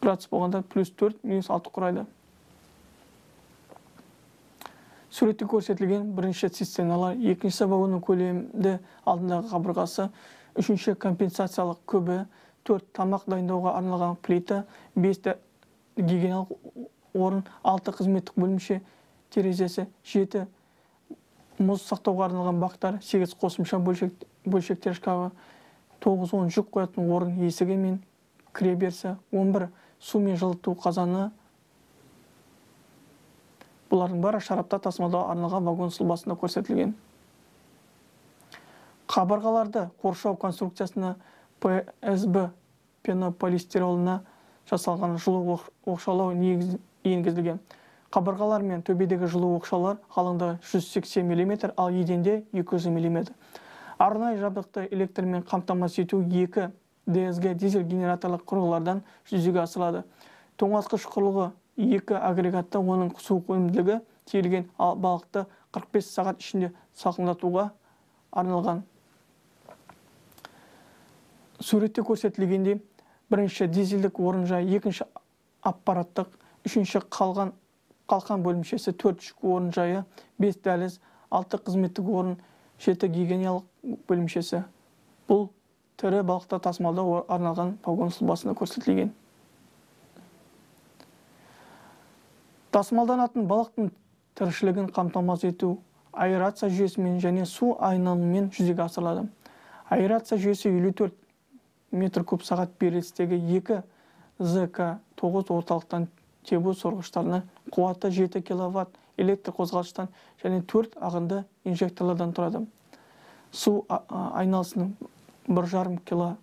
градус болғанда плюс төрт — минус алты құрайды. Суретте көрсетілген бірінші цистерналар, екінші вагонның көлемді алдындағы қабырғасы, үшінші компенсациялық көбі, төрт тамақ дайындауға арналған плита, бес гигиеналық орын, алты қызметтік бөлімше терезесі, жеті мұз сақтауға арналған бақтар, сегіз қосымша бөлшектер шкафы, тоғыз он жүк қоятын орын есігі мен кіреберісі, он бір су мен жылыту қазаны. Бұлардың бары шарапта тасымалдауға арналған вагон сұлбасында көрсетілген. Қабырғаларды қоршау конструкциясына пэ эс бэ пенополистиролына жасалған жылу оқшаулау енгізілген. Қабырғалар мен төбедегі жылу оқшаулар қалыңдығы жүз сексен мм, ал еденде екі жүз мм. Арнайы жабдықты электрмен қамтамасыз ету екі дэ эс гэ дизель генераторлық құрылғылардан жүзеге асырылады. Тоңазытқыш құрылғы екі агрегатты, оның су өнімділігі тиелген балықты қырық бес сағат ішінде салқындатуға арналған. Суретте көрсетілгенде бірінші дизельдік орынжай, екінші аппараттық, үшінші қалған қалқан бөлімшесі, төрт жүк орынжайы, бес дәліз, алты қызметтік орын, жеті гигиеналық бөлімшесі. Бұл тірі балықты тасымалдауға арналған вагон сұлбасында көрсетілген. Тасымалданатын балықтың тіршілігін қамтамасыз ету аэрация жүйесімен және су айналымымен жүзеге асырылады. Аэрация жүйесі елу төрт метр куб сағат берілістегі екі зэ ка тоғыз орталықтан тебу сорғыштарына, қуаты жеті киловатт электр қозғалыштан және төрт ағынды инжекторлардан тұрады. Су айналысының бір жарым киловатт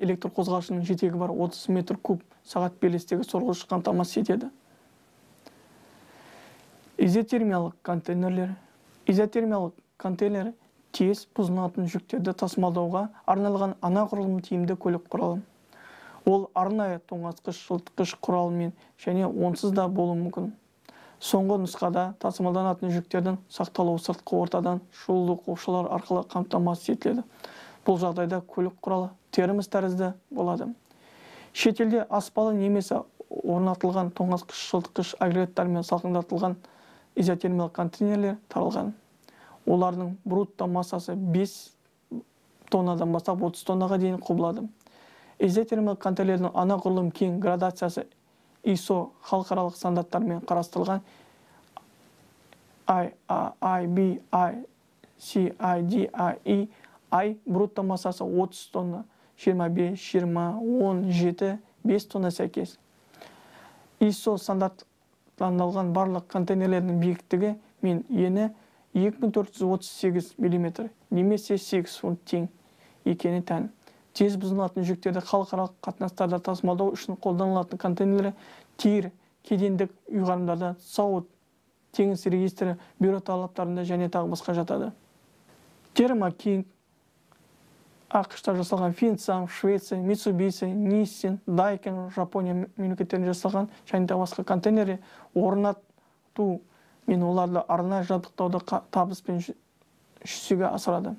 электр қозғалышының жетегі бар отыз метр куб сағат берілістегі сорғыш қамтамасыз етеді. Изотермиялық контейнерлер. Изотермиялық контейнер тез бұзылатын жүктерді тасымалдауға арналған анағұрлым тиімді көлік құралы. Ол арнайы тоңазытқыш, жылытқыш құралымен және онсыз да болуы мүмкін. Соңғы нұсқада тасымалданатын жүктердің сақталуы сыртқы ортадан шұғылдық оқшаулар арқылы қамтамасыз етіледі. Бұл жағдайда көлік құралы термос тәрізді болады. Шетелде аспалы немесе орнатылған тоңазытқыш, жылытқыш агрегаттармен салқындатылған изотермиялық контейнерлер таралған. Олардың брутто массасы бес тоннадан бастап отыз тоннаға дейін құбылады. Изотермиялық контейнерлердің анағұрлым кең градациясы ай эс о халықаралық стандарттармен қарастырылған ай ай би, ай си ай ди, ай и, ай брутто массасы отыз тонна, жиырма бес, жиырма, он жеті, бес тонна сәйкес. ай эс о стандарттандырылған барлық контейнерлердің биіктігі мен ені екі мың төрт жүз отыз сегіз мм немесе сегіз фунт тең екені тән. Тез бұзылатын жүктерді халықаралық қатынастарда тасымалдау үшін қолданылатын контейнерлер тиір, кедендік ұйғарымдарда, сауд, теңіз регистрі, бюро талаптарында және тағы басқа жатады. Термо Кинг, ақш-та жасалған, Финсам, Швеция, Митсубиси, Ниссин, Дайкен, Жапония мемлекеттерінде жасалған және тағы басқа контейнерлер орнату мен оларды арнайы жабдықтауды табыспен жүзеге асырады.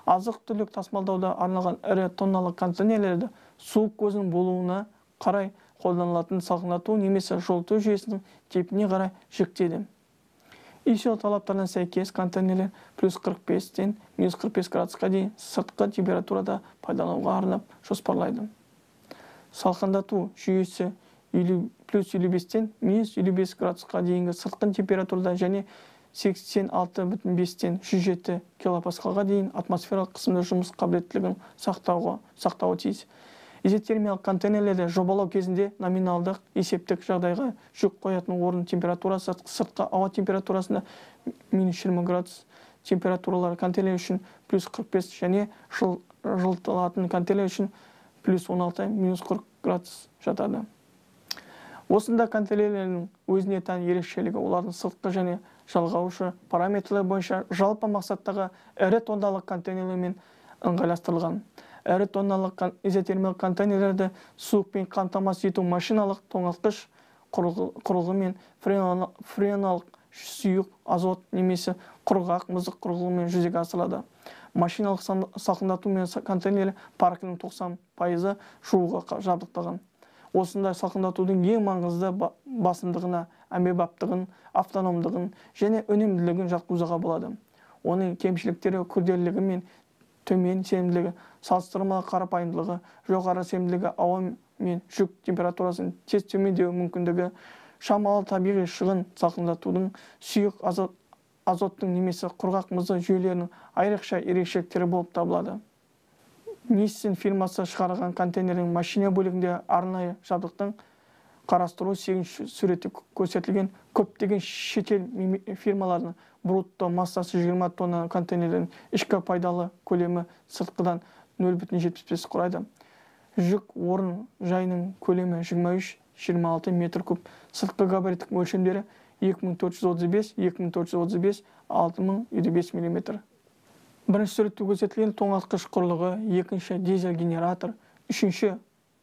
Азық-түлік тасымалдауда арналған ірі тонналық контейнерлерді су көзінің болуына қарай қолданылатын салқындату немесе жылыту жүйесінің типіне қарай жіктеді. ай эс о талаптарына сәйкес контейнерлер плюс қырық бестен минус қырық бес градусқа дейін сыртқы температурада пайдалануға арнап жоспарлайды. Салқындату жүйесі плюс елу бестен минус елу бес градусқа дейінгі сыртқы температурада және сексен алты бүтін бестен жүз жеті килопаскалға дейін атмосфералық қысымды жұмыс қабілеттілігін сақтауы тиіс. Изотермиялық контейнерлерді жобалау кезінде номиналдық есептік жағдайға жүк қоятын орын температурасы сыртқы ауа температурасында минус жиырма градус температуралары контейнер үшін плюс қырық бес және жылытылатын контейнер үшін плюс он алты минус қырық градус жатады. Осында контейнерлердің өзіне тән ерекшелігі олардың сыртқы және жалғаушы параметрлер бойынша жалпы мақсаттағы ірі тонналық контейнерлермен ыңғайластырылған. әрі тонналық изотермиялық контейнерлерді суықпен қамтамасыз ету машиналық тоңазытқыш құрылғы мен френалық сұйық азот немесе құрғақ мұздық құрылғымен жүзеге асырылады. Машиналық салқындату мен контейнер паркінің тоқсан пайызы шуға жабдықталған. Осындай салқындатудың ең маңызды басымдығына әмбебаптығын, автономдығын және өнімділігін жатқызуға болады. Оның кемшіліктері күрделілігі мен төмен сенімділігі, салыстырмалы қарапайымдылығы, жоғары сенімділігі, ауа мен жүк температурасының тез төмендеу мүмкіндігі, шамалы табиғи шығын салқындатудың сұйық азоттың немесе құрғақ мұзды жүйелерінің айрықша ерекшеліктері болып табылады. Nissan фирмасы шығарған контейнердің машина бөлігінде арнайы жабдықтың қарастыру сегізінші суретте көрсетілген көптеген шетел фирмаларының брутто массасы жиырма тонна контейнердің ішкі пайдалы көлемі сыртқыдан нөл бүтін жетпіс бес құрайды. Жүк орын жайының көлемі жиырма үш жиырма алты метр куб. Сыртқы габариттік өлшемдері екі мың төрт жүз отыз бес екі мың төрт жүз отыз бес алты мың елу бес миллиметр. Бірінші суретте көрсетілген тоңазытқыш құрылғы, екінші дизель генератор, үшінші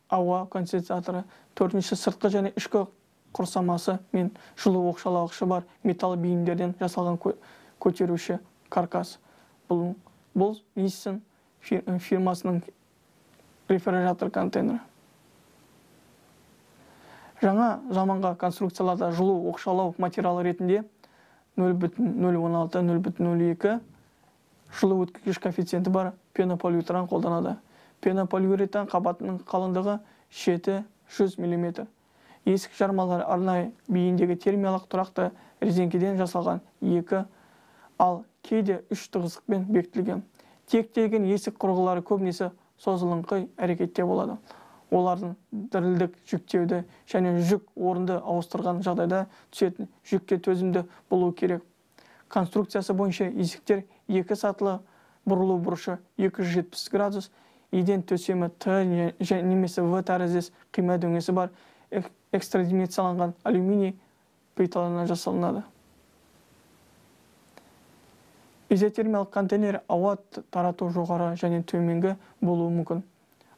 ауа конденсаторы, төртінші сыртқы және ішкі құрсамасы мен жылу оқшаулағышы бар металл бейіндерден жасалған көтеруші каркас. Бұл, бұл Nissan фирмасының рефрижератор контейнері. Жаңа заманға конструкцияларда жылу оқшаулау материалы ретінде нөл бүтін нөл он алты нөл бүтін нөл екі жылу өткізгіш коэффициенті бар пенополиуретан қолданады. Пенополиуретан қабатының қалыңдығы жеті жүз миллиметр. Есік жармалары арнайы бейіндегі термиялық тұрақты резеңкеден жасалған екі, ал кейде үш тығыздықпен бекітілген. Тектелген есік құрылғылары көбінесе созылыңқы әрекетте болады. Олардың дірілдік жүктеуді және жүк орынды ауыстырған жағдайда түсетін жүкке төзімді болуы керек. Конструкциясы бойынша есіктер екі сатылы, бұрылу бұрышы екі жүз жетпіс градус, еден төсемі Т немесе В тәріздес қима дөңесі бар экстрадименцияланған алюминий плиталарынан жасалынады. Изотермиялық контейнер ауа тарату жоғары және төменгі болуы мүмкін.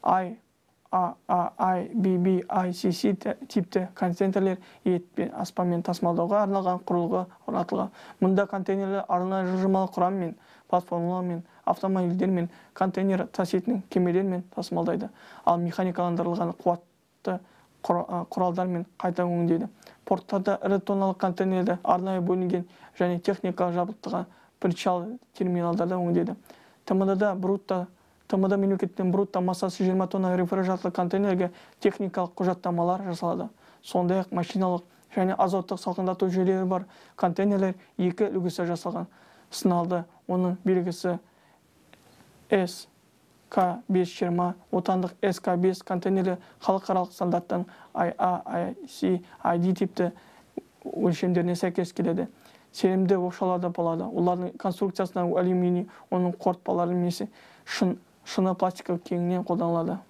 I, A, A, I, B, B, I, C, C типті контейнерлер ет пен аспанмен тасымалдауға арналған құрылғы орнатылған. Мұнда контейнерлер арнайы жылжымалы құраммен, платформалармен, автомобильдермен, контейнер таситын кемелермен тасымалдайды. Ал механикаландырылған қуатты құралдармен қайта өңдейді. Порттарда ірі тонналық контейнерлерді арнайы бөлінген және техникалық жабдықталған причал терминалдарда өңдейді. ТМД-да брутто ТМД мемлекеттен брутто массасы жиырма тонна рефрижераторлы контейнерге техникалық құжаттамалар жасалады. Сондай-ақ машиналық және азоттық салқындату жүйелері бар контейнерлер екі үлгісі жасалған. Сыналды, оның белгісі эс ка бес жүз жиырма, отандық эс ка бес контейнері халықаралық стандарттан ай а, ай си, ай ди типті өлшемдеріне сәйкес келеді. Сенімді оқшауларда болады. Олардың конструкциясына алюминий, оның қорытпалары немесе шын шыны пластикалық кеңінен қолданылады.